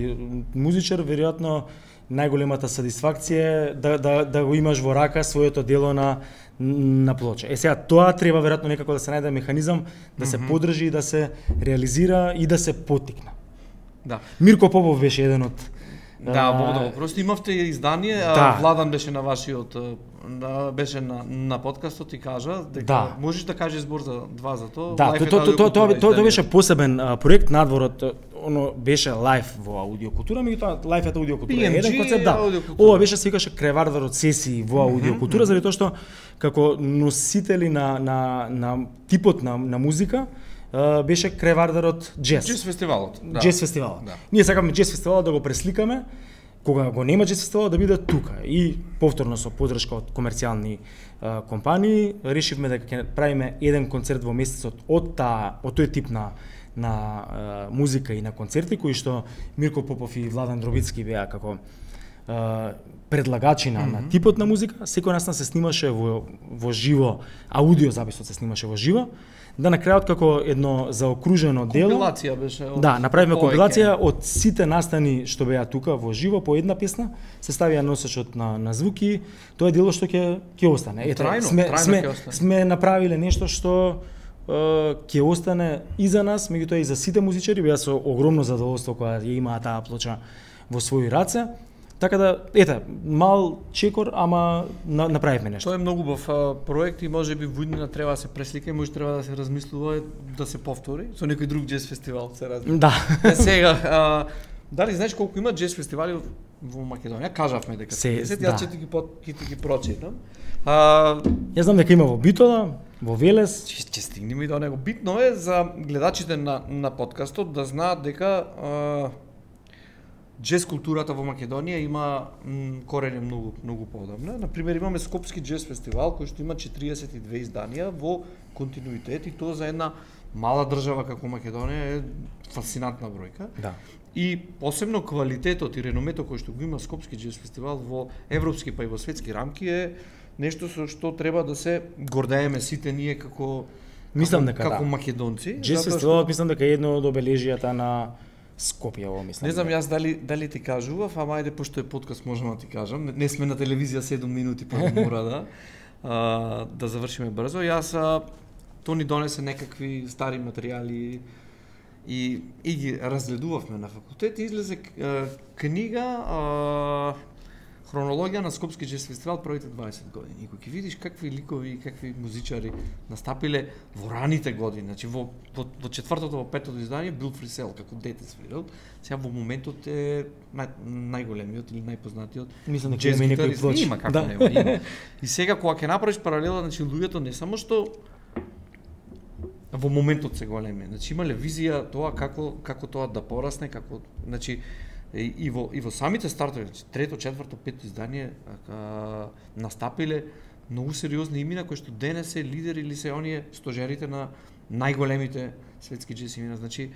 музичар веројатно најголемата сатисфакција е да да да го имаш во рака своето дело на на плоча. Е сега тоа треба веројатно некако да се најде механизам да се mm -hmm. поддржи и да се реализира и да се поттикне. Да. Мирко Попов беше еден од Да, Бог да го прости, имавте издание, да. Владан беше на вашиот беше на на подкастот и кажа дека да. можеш да кажеш збор за два за тоа. Да, тоа тоа тоа тоа беше посебен проект надворот, оно беше лайф во аудиокултура, меѓутоа лайф е аудиокултура. Еден концепт, да. Ова беше се викаше кревардарот сесии во аудиокултура, заради тоа што како носители на на на типот на на музика Uh, беше кревардарот джез. Джез фестивалот. Да. Джез фестивалот. Да. Ние сакаме джез фестивалот да го пресликаме, кога го нема джез фестивалот да биде тука. И повторно со поддршка од комерцијални uh, компании решивме дека ќе правиме еден концерт во месецот од таа од тој тип на на uh, музика и на концерти кои што Мирко Попов и Владан Дробицки беа како uh, предлагачи на, mm -hmm. на типот на музика. Секој нас се снимаше во во живо, аудио записот се снимаше во живо. Да на крајот како едно заокружено дело. Компилација беше. Од... Да, направивме компилација од сите настани што беа тука во живо по една песна, се ставија носачот на на звуки, тоа е дело што ќе ќе остане. Ете, трајно, сме трајно сме, ќе остане. Сме направиле нешто што ќе остане и за нас, меѓутоа и за сите музичари, беа со огромно задоволство кога ја имаа таа плоча во своји раце. Така да, ете, мал чекор, ама на, направивме нешто. Тоа е многу убав проект и можеби во иднина треба да се преслика и може треба да се размислува да се повтори со некој друг джез фестивал, се размислува. Да. Е, сега, а, дали знаеш колку има джез фестивали во Македонија? Кажавме дека се, десет, да. Јас ќе ти ги ќе ти ги прочитам. А, Јас знам дека има во Битола, во Велес. Ќе стигнеме и до него. Битно е за гледачите на на подкастот да знаат дека а, джез културата во Македонија има м, корени многу многу поодамна. На пример имаме Скопски джез фестивал кој што има четириесет и две изданија во континуитет и тоа за една мала држава како Македонија е фасцинантна бројка. Да. И посебно квалитетот и реномето кој што го има Скопски джез фестивал во европски па и во светски рамки е нешто со што треба да се гордееме сите ние како мислам дека како, како да. македонци. Джез фестивалот мислам дека е едно од обележијата на Скопје, ово мислам. Не знам јас дали дали ти кажував, ама ајде пошто е подкаст можам да ти кажам. Не, не сме на телевизија седум минути па мора да а, да завршиме брзо. Јас а, то ни донесе некакви стари материјали и и ги разгледувавме на факултет и излезе а, книга а, хронологија на Скопски джез фестивал првите дваесет години. И кога ќе видиш какви ликови и какви музичари настапиле во раните години, значи во во, во четвртото, во петото издание Бил Фрисел како дете свирил. Сега во моментот е нај, најголемиот или најпознатиот. Мислам дека има некој плоч. Има како да. нема, има. И сега кога ќе направиш паралела, значи луѓето не само што во моментот се големи, значи имале визија тоа како како тоа да порасне, како значи И, и во и во самите стартови, значи трето, четврто, пето издание а, настапиле многу сериозни имена кои што денес се лидери или се оние стожерите на најголемите светски джез имена. Значи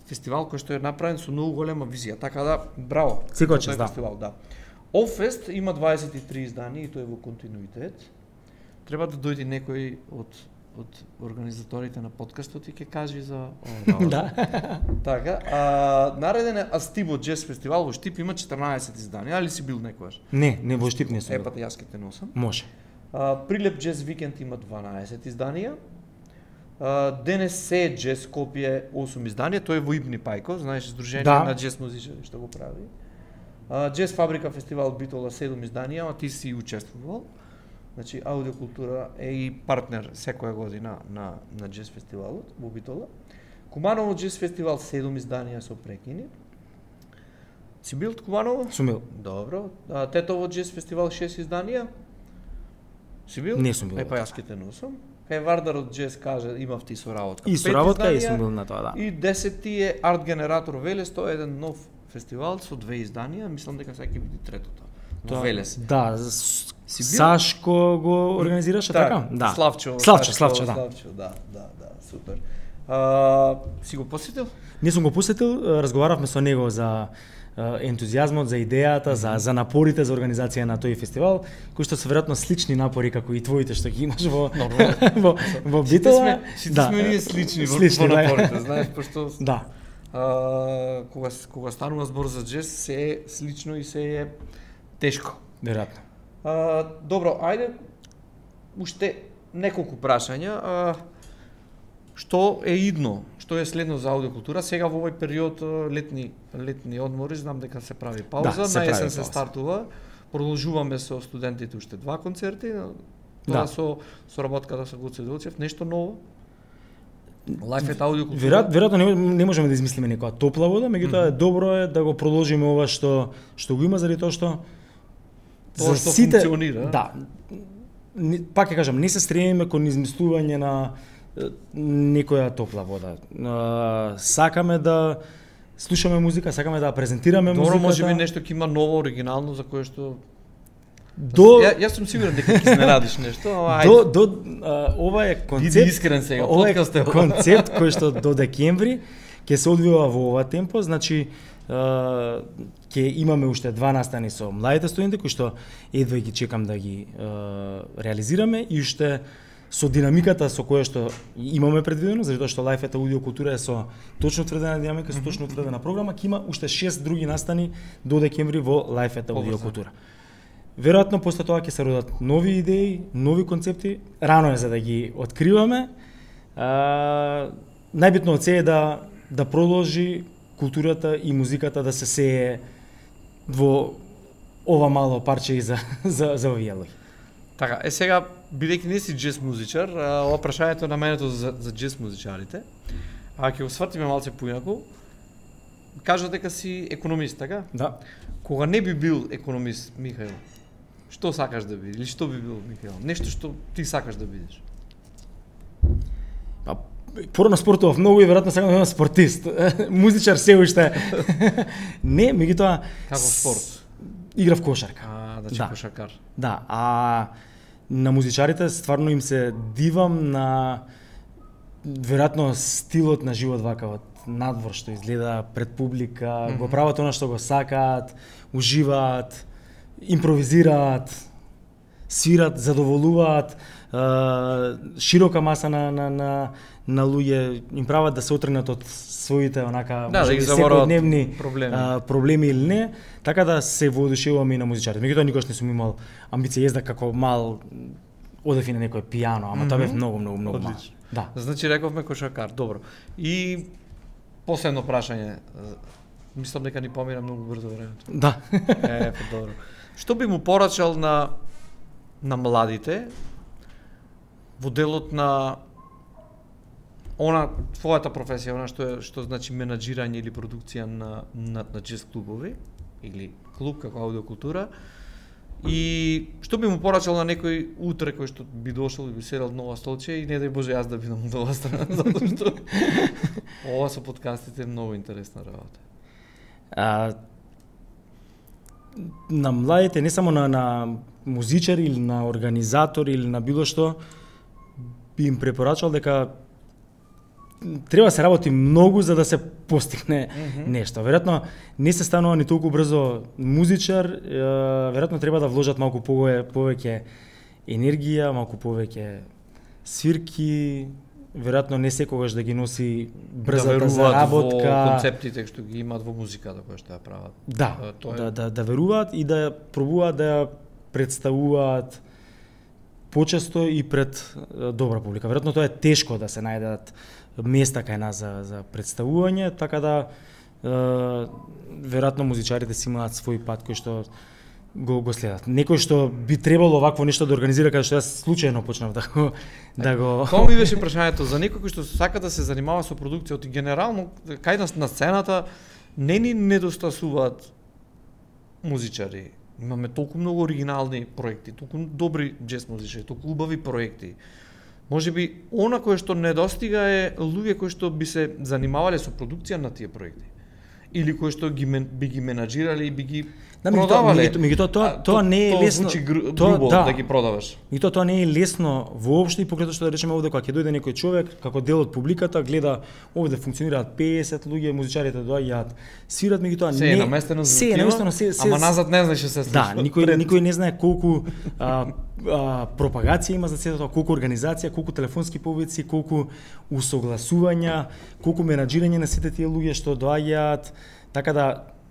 фестивал кој што е направен со многу голема визија. Така да, браво. Секој чест, да. Фестивал, да. Олфест има дваесет и три изданија и тој е во континуитет. Треба да дојде некој од од организаторите на подкастот и ќе кажи за ова. Да. Така, а нареден е Астибо Джез фестивал во Штип, има четрнаесет изданија, али си бил некогаш? Не, не во Штип не сум. Е, па јас ќе те носам. Може. А, Прилеп Джез викенд има дванаесет изданија. А, денес се Джез Скопје осум изданија, тој е во Ибни Пајко, знаеш, здружение да. на джез музичари што го прави. А, Джез Фабрика фестивал Битола седум изданија, а ти си учествувал. Значи, Аудиокултура е и партнер секоја година на, на джез фестивалот во Битола. Куманово джез фестивал седум изданија со прекини. Си бил Куманово? Сум бил. Добро. А, Тетово джез фестивал шест изданија. Си бил? Не сум бил. Е, па јас ке те носам. Кај Вардарот джез каже, имав ти соработка. И соработка и сум бил на тоа, да. И десети е Арт Генератор Велес, тоа е еден нов фестивал со две изданија, мислам дека сега ќе биде третото. Во Велес. Да, Сашко го организираше така? Да. Славчо. Славчо, Славчо, да. Славчо, да, да, да, супер. А, си го посетил? Не сум го посетил, разговаравме со него за ентузијазмот, за идејата, за за напорите за организација на тој фестивал, кои што се веројатно слични напори како и твоите што ги имаш во во во Битола. Сите сме ние слични во, во напорите, знаеш, пошто да. А, кога кога станува збор за джез, се е слично и се е тешко. Веројатно. А, добро, ајде уште неколку прашања. А, што е идно? Што е следно за аудиокултура? Сега во овој период летни летни одмори, знам дека се прави пауза, да, се на есен прави се пауза. Продолжуваме продолжуваме со студентите уште два концерти, тоа Да. со соработката со Гоце Делчев, нешто ново? Лајф аудиокултура. Веројатно, веројатно не, не можеме да измислиме некоја топла вода, меѓутоа mm-hmm. добро е да го продолжиме ова што што го има заради тоа што тоа што сите, функционира. Да. Не, пак ќе кажам, не се стремиме кон измислување на е, некоја топла вода. А, сакаме да слушаме музика, сакаме да презентираме Добро, музиката. може би нешто ќе има ново, оригинално за кое што до Ја, јас сум сигурен дека ќе изненадиш нешто, ама до до а, ова е концепт. Биди искрен сега, ова е подкаст е ова. концепт кој што до декември ќе се одвива во ова темпо, значи а, ќе имаме уште два настани со младите студенти кои што едва ги чекам да ги а, реализираме и уште со динамиката со која што имаме предвидено, затоа што Лајф аудиокултура е со точно утврдена динамика, со точно утврдена програма, ќе има уште шест други настани до декември во Лајф аудиокултура. Веројатно после тоа ќе се родат нови идеи, нови концепти, рано е за да ги откриваме. А, најбитно од се е да да продолжи културата и музиката да се сее во ова мало парче и за за за овие луѓе. Така, е сега бидејќи не си джез музичар, а, ова прашањето е наменето за за джез музичарите. А ќе го свртиме малце поинаку. Кажа дека си економист, така? Да. Кога не би бил економист, Михаил, што сакаш да бидеш? Или што би бил, Михаил? Нешто што ти сакаш да бидеш? Па порано спортував многу и веројатно сакам да бидам спортист. Музичар се уште. Не, меѓутоа Како спорт? Играв кошарка. А, значи Да. кошаркар. Да, а на музичарите стварно им се дивам на веројатно стилот на живот вака од надвор што изгледа пред публика, mm -hmm. го прават она што го сакаат, уживаат, импровизираат, свират, задоволуваат, е, широка маса на на на на луѓе им прават да се отргнат од своите онака да, да ги секојдневни проблеми. А, проблеми или не, така да се воодушевувам и на музичарите. Меѓутоа никош не сум имал амбиција езда како мал одев и на некој пијано, ама mm -hmm. тоа бев многу многу многу мал. Да. Значи рековме кошаркар, добро. И последно прашање. Мислам дека ни помина многу брзо времето. Да. Е, па добро. Што би му порачал на на младите во делот на она твојата професија, она што е што значи менаџирање или продукција на на, на джез клубови или клуб како аудиокултура, и што би му порачал на некој утре кој што би дошол и би седел нова столче и не дај Боже јас да бидам од оваа страна, затоа што ова со подкастите е многу интересна работа. А, на младите, не само на, на музичар или на организатор или на било што, би им препорачал дека треба да се работи многу за да се постигне mm-hmm. нешто. Веројатно не се станува ни толку брзо музичар, веројатно треба да вложат малку повеќе енергија, малку повеќе свирки, веројатно не секогаш да ги носи брзата да заработка, во концептите што ги имаат во музиката која што ја прават. Да, тоа е... да, да, да веруваат и да пробуваат да ја представуваат почесто и пред добра публика. Веројатно тоа е тешко да се најдат места кај нас за, за представување, така да е, веројатно музичарите си имаат свој пат кој што го, го следат. Некој што би требало вакво нешто да организира, каде што јас случајно почнав да го да го Тоа ми беше прашањето за некој кој што сака да се занимава со продукцијата и генерално кај нас на сцената не ни недостасуваат музичари. Имаме толку многу оригинални проекти, толку добри џез музичари, толку убави проекти. Можеби она кое што недостига е луѓе кои што би се занимавале со продукција на тие проекти. Или кои што ги би ги менаџирали и би ги да, продавале. Меѓутоа тоа тоа не е лесно. Звучи грубо да. да ги продаваш. Меѓутоа тоа не е лесно воопшто и покрај тоа што да речеме овде кога ќе дојде некој човек како дел од публиката, гледа овде функционираат песет луѓе, музичарите доаѓаат, свират, меѓутоа не се е наместено за се е наместено се, се ама назад не знаеш што се случува. Да, никој пред... никој не знае колку а, а, пропагација има за сето тоа, колку организација, колку телефонски повици, колку усогласувања, колку менаџирање на сите тие луѓе што доаѓаат, така да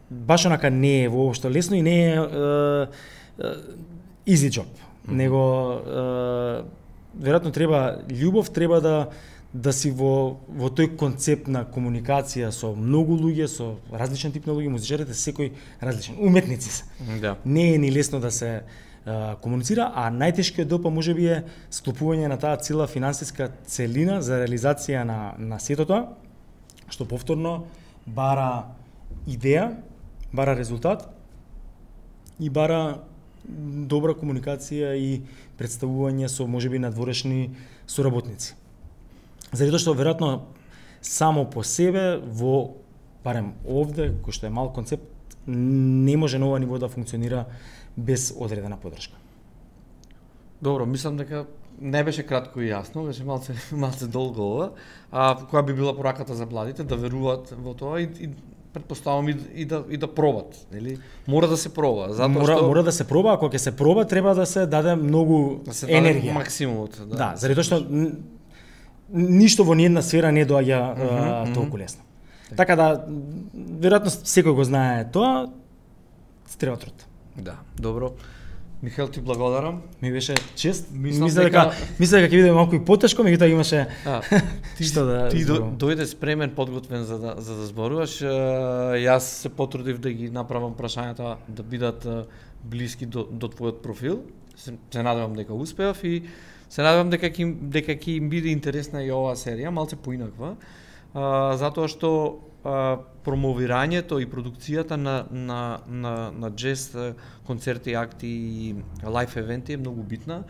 баш онака не е воопшто лесно и не е, е, е easy job, mm-hmm. него е, веројатно треба љубов, треба да да си во во тој концепт на комуникација со многу луѓе, со различен тип на луѓе, музичарите секој различен, уметници се. Да. Не е ни лесно да се е, комуницира, а најтешкиот дел па можеби е склопување на таа цела финансиска целина за реализација на на сето тоа, што повторно бара идеја, бара резултат и бара добра комуникација и представување со можеби надворешни соработници. Заради тоа што веројатно само по себе во барем овде кој што е мал концепт не може на ова ниво да функционира без одредена поддршка. Добро, мислам дека не беше кратко и јасно, беше малце малце долго ова. А која би била пораката за младите да веруваат во тоа и, и претпоставувам и, и да и да пробат, нели? Мора да се проба, затоа мора, што мора да се проба, ако ќе се проба треба да се даде многу да се даде енергија, максимумот, да. Да, заради тоа што ништо во ниедна сфера не доаѓа uh -huh, uh -huh. толку лесно. Така да веројатно секој го знае тоа, треба труд. Да, добро. Михаел, ти благодарам. Ми беше чест. Мислам Мисля дека мисля дека ќе биде малку и потешко, меѓутоа имаше а, ти, што да ти до, дојде спремен, подготвен за да за да зборуваш. Јас се потрудив да ги направам прашањата да бидат блиски до до твојот профил. Се, се надевам дека успеав и се надевам дека ќе дека ќе им биде интересна и оваа серија, малце поинаква. А, затоа што а, промовирањето и продукцијата на на на на џез концерти, акти и лајф евенти е многу битна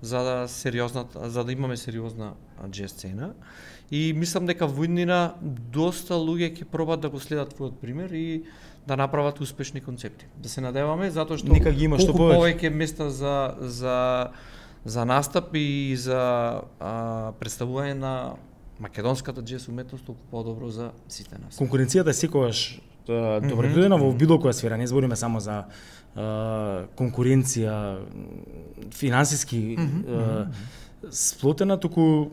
за да сериозна за да имаме сериозна џез сцена. И мислам дека во иднина доста луѓе ќе пробат да го следат твојот пример и да направат успешни концепти. Да се надеваме затоа што нека ги има што повеќе места за за за настап и за а, представување на македонската џез уметност толку подобро за сите нас. Конкуренцијата е секогаш добродојдена во било која сфера, не збориме само за uh, конкуренција финансиски uh, сплотена, туку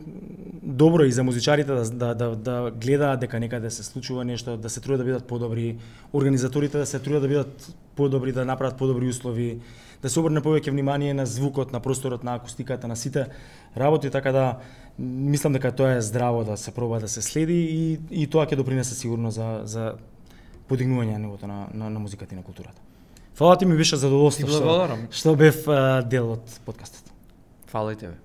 добро и за музичарите да, да, да, да гледаат дека некаде се случува нешто, да се трудат да бидат подобри, организаторите да се трудат да бидат подобри, да направат подобри услови, да се обрне повеќе внимание на звукот, на просторот, на акустиката, на сите работи, така да мислам дека тоа е здраво да се проба да се следи и, и тоа ќе допринесе сигурно за, за подигнување на нивото на, на, на музиката и на културата. Фала ти, ми беше задоволство што, што бев дел од подкастот. Фала и тебе.